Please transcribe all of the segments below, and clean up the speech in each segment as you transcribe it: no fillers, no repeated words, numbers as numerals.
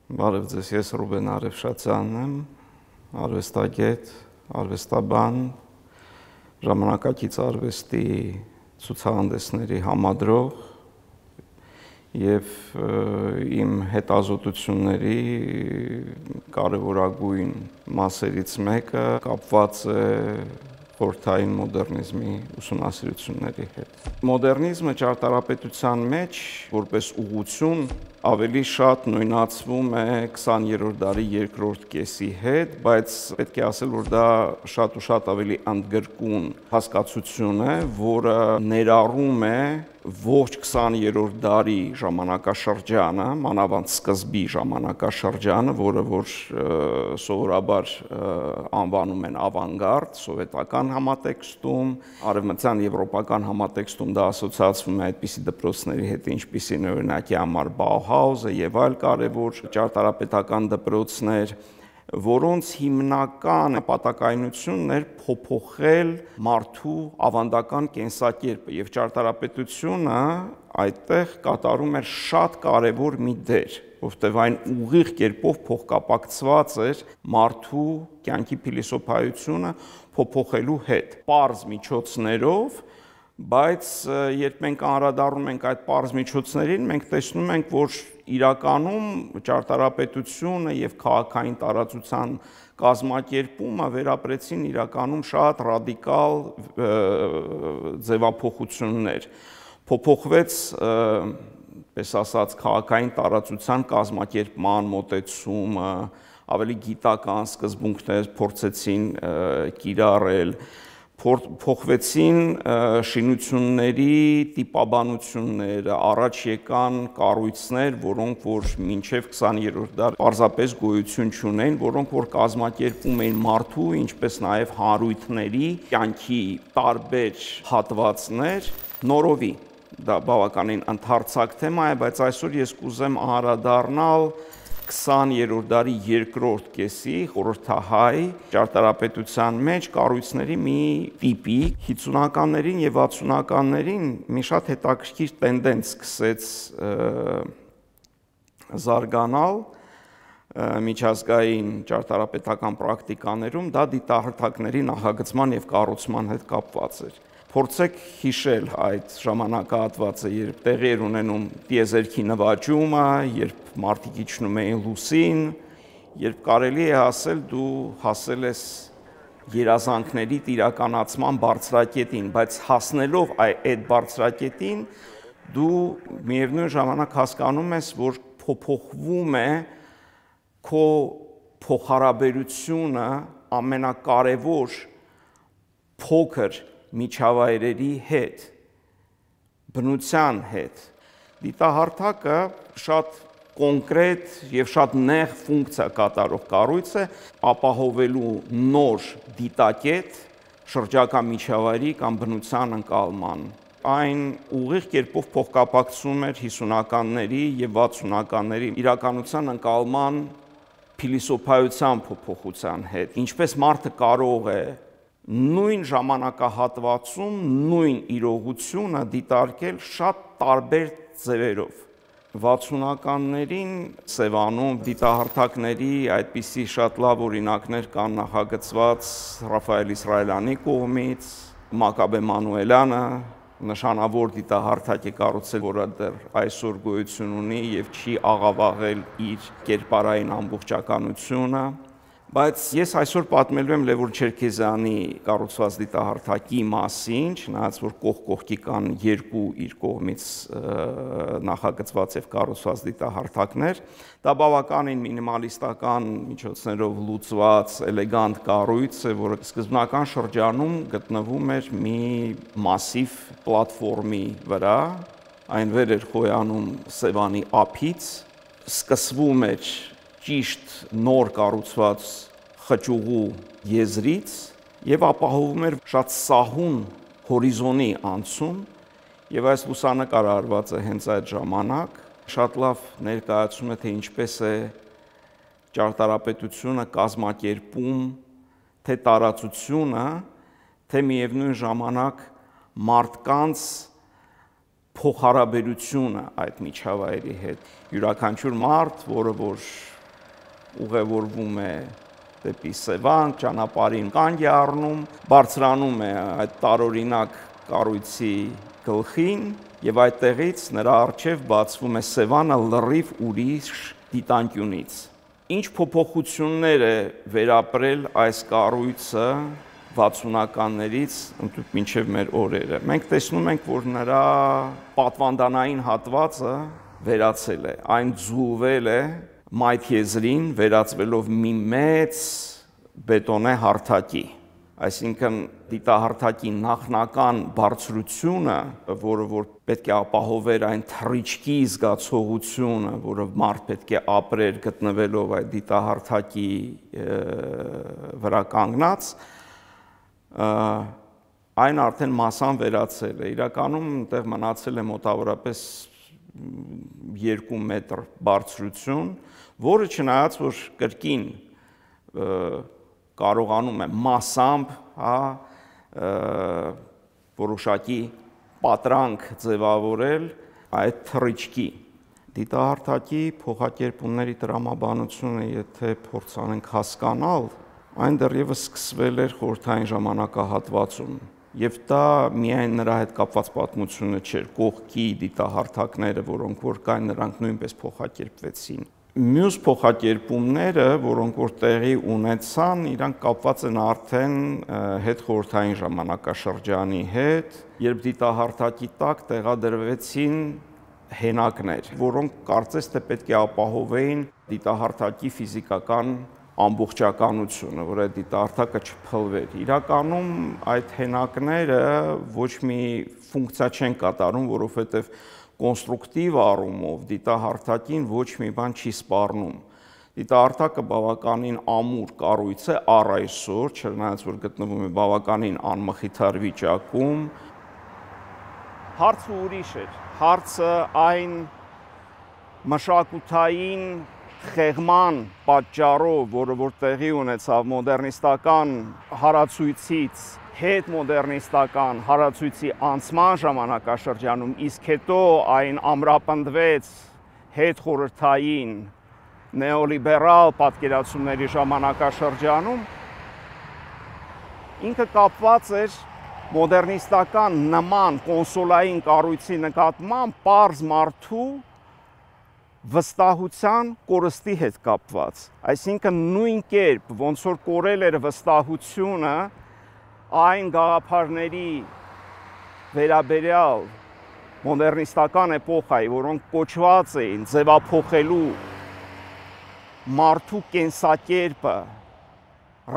Բարև ձեզ, ես Ռուբեն Արևշացյանն եմ, արվեստագետ, արվեստաբան, ժամանակակից արվեստի ցուցահանդեսների համադրող եւ իմ հետազոտությունների կարևորագույն մասերից մեկը կապված է խորհրդային մոդեռնիզմի ուսումնասիրությունների հետ։ Մոդեռնիզմը ճարտարապետության մեջ որպես ուղղություն ավելի շատ նույնացվում է 20-րդ դարի երկրորդ կեսի հետ, բայց պետք է ասել, որ դա շատ ու շատ ավելի ընդգրկուն հասկացություն է, որը ներառում է ողջ 20-րդ դարի ժամանակաշրջանը, մանավանդ սկզբի ժամանակաշրջանը, որը որ սովորաբար անվանում են ավանգարդ, սովետական համատեքստում, արևմտյան եվրոպական համատեքստում դա ասոցացվում է այդպիսի դպրոցների հետ, ինչպիսին օրինակի համար Բաուհաուսը եւ այլ կարևոր ճարտարապետական դպրոցներ, որոնց հիմնական նպատակայնությունն էր փոփոխել մարդու ավանդական կենսակերպը եւ ճարտարապետությունը այդտեղ կատարում էր շատ կարևոր մի դեր, որովհետեւ այն ուղիղ կերպով փոխկապակցված էր մարդու կյանքի փիլիսոփայությունը փոփոխելու հետ, պարզ միջոցներով, բայց երբ մենք անդրադառնում ենք այդ պարզ միջոցներին, մենք տեսնում ենք, որ իրականում ճարտարապետությունը եւ քաղաքային տարածության կազմակերպումը վերապրեցին իրականում շատ ռադիկալ ձևափոխություններ։ Փոփոխվեց, պես ասած, քաղաքային տարածության կազմակերպման մոտեցումը, ավելի գիտական սկզբունքներ փորձեցին կիրառել, փոխվեցին շինությունների տիպաբանությունները, առաջ եկան կառույցներ, որոնք որ մինչև 20-րդ դար պարզապես գոյություն չունեն, որոնք որ կազմակերպում էին մարդու, ինչպես նաև հանրույթների կյանքի տարբեր հատվածներ նորովի։ Դա բավականին ընդհարցակ թեմա է, բայց այսօր ես կուզեմ անդրադառնալ 20-րդ դարի երկրորդ կեսի խորհրդահայ ճարտարապետության մեջ կառույցների մի տիպի 50-ականներին եւ 60-ականներին մի շատ հետաքրքիր տենդենց սկսեց զարգանալ միջազգային ճարտարապետական պրակտիկաներում, դա դիտահարթակների նախագծման եւ կառուցման հետ կապված էր։ Փորձեք հիշել այդ ժամանակահատվածը, երբ տեղի էր ունենում տիեզերքի նվաճումը, երբ մարդիկ իջնում էին լուսին, երբ կարելի է ասել դու հասել ես երազանքների իրականացման բարձրակետին, բայց հասնելով այդ բարձրակետին դու միևնույն ժամանակ հասկանում ես, որ փոփոխվում է քո փոխհարաբերությունը ամենակարևոր փոքր միջավայրերի հետ, բնության հետ։ Դիտահարթակը շատ կոնկրետ եւ շատ նեղ ֆունկցիա կատարող կառույց է, ապահովելու նոր դիտակետ շրջակա միջավայրի կամ բնության ընկալման։ Այն ուղիղ կերպով փոխկապակցում էր 50-ականների եւ 60-ականների իրականության ընկալման փիլիսոփայության փոփոխության հետ, ինչպես մարդը կարող է նույն ժամանակահատվածում նույն իրողությունը դիտարկել շատ տարբեր ձևերով։ 60-ականներին Սևանում դիտահարթակների այդպիսի շատ լավ օրինակներ կան նախագծված Ռաֆայել Իսրայելյանի կողմից, Մակաբե Մանուելյանը նշանավոր դիտահարթակ է կառուցել, որը դեռ այսօր գոյություն ունի եւ չի աղավաղել իր կերպարային ամբողջականությունը, բայց ես այսօր պատմելու եմ Լևոն Չերքեզյանի կառուցված դիտահարթակի մասին, չնայած որ կողքի կան երկու իր կողմից նախագծված եւ կառուցված դիտահարթակներ, դա բավականին մինիմալիստական միջոցներով լուծված էլեգանտ կառույց է, որը սկզբնական շրջանում գտնվում էր մի մասիվ պլատֆորմի վրա, այն վեր էր խոյանում Սևանի ափից, սկսվում էր ճիշտ նոր կառուցված խճուղու եզրից եւ ապահովում էր շատ սահուն հորիզոնի անցում եւ այս լուսանկարը արված է հենց այդ ժամանակ շատ լավ ներկայացում է թե ինչպես է ճարտարապետությունը կազմակերպում թե տարածությունը թե միևնույն ժամանակ մարդկանց փոխհարաբերությունը այդ միջավայրի հետ յուրաքանչյուր մարդ, որը որ ուղևորվում է դեպի Սևան, ճանապարհին կանգ է առնում, բարձրանում է այդ տարօրինակ կառույցի գլխին եւ այդտեղից նրա առջև բացվում է Սևանը լրիվ ուրիշ դիտանկյունից։ Ինչ փոփոխություններ է վերապրել այս կառույցը 60-ականներից մինչև մեր օրերը։ Մենք տեսնում ենք, որ նրա պատվանդանային հատվածը վերացել է, այն ձուլվել է մայթ եզրին, վերածվելով մի մեծ բետոնե հարթակի, այսինքն դիտահարթակի նախնական բարձրությունը, որը որ պետք է ապահովեր այն թռիչքի զգացողությունը, որը մարդ պետք է ապրեր գտնվելով այդ դիտահարթակի վրա կանգնած, այն արդեն մասամբ վերացել է, իրականում այնտեղ մնացել է մոտավորապես 2 մետր բարձրություն, որը չնայած որ կրկին կարողանում է մասամբ որոշակի պատրանք ձևավորել այդ թռիչքի։ Դիտահարթակի փոխակերպումների տրամաբանությունը, եթե փորձանենք հասկանալ, այն դեռևս սկսվել էր խորհրդային ժամանակահատվածում, եւ դա միայն նրա հետ կապված պատմությունը չէր, կողքի դիտահարթակները, որոնք որ կային, նրանք նույնպես փոխակերպվեցին։ Մյուս փոխակերպումները, որոնք որ տեղի ունեցան, իրանք կապված են արդեն հետխորհրդային ժամանակաշրջանի հետ, երբ դիտահարթակի տակ տեղադրվեցին հենակներ, որոնք կարծես թե պետք է ապահովեին դիտահարթակի ֆիզիկական ամբողջականությունը, որ այդ դիտահարթակը չփլվեր։ Իրականում այդ հենակները ոչ մի ֆունկցիա չեն կատարում, որովհետև կոնստրուկտիվ առումով դիտահարթակին ոչ մի բան չի սպառնում։ Դիտահարթակը բավականին ամուր կառույց է առ այսօր, չնայած որ գտնվում է բավականին անմխիթար վիճակում։ Հարցը ուրիշ էր։ Հարցը այն մշակութային խեղման պատճառով, որը որ տեղի ունեցավ մոդեռնիստական հարացույցից հետ մոդեռնիստական հարացույցի անցման ժամանակաշրջանում, իսկ հետո այն ամրապնդվեց հետ խորհրդային նեոլիբերալ պատկերացումների ժամանակաշրջանում, ինքը կապված էր մոդեռնիստական նման կոնսոլային կառույցի նկատմամբ պարզ մարդու վստահության կորստի հետ կապված, այսինքն նույն կերպ, ոնց որ կորել էր վստահությունը այն գաղափարների վերաբերյալ մոդեռնիստական էպոխայի, որոնք կոչված էին ձևափոխելու մարդու կենսակերպը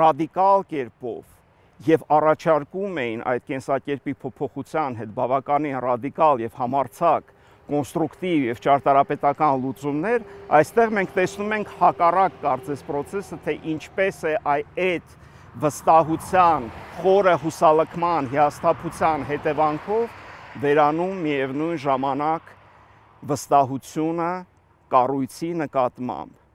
ռադիկալ կերպով եւ առաջարկում էին այդ կենսակերպի փոփոխության հետ բավականին ռադիկալ եւ համարձակ կոնստրուկտիվ եւ ճարտարապետական լուծումներ, այստեղ մենք տեսնում ենք հակառակ կարծես process-ը, թե ինչպես է այդ վստահության, խորը հուսալքման, հիասթափության հետևանքով վերանում միևնույն ժամանակ վստահությունը կառույցի նկատմամբ։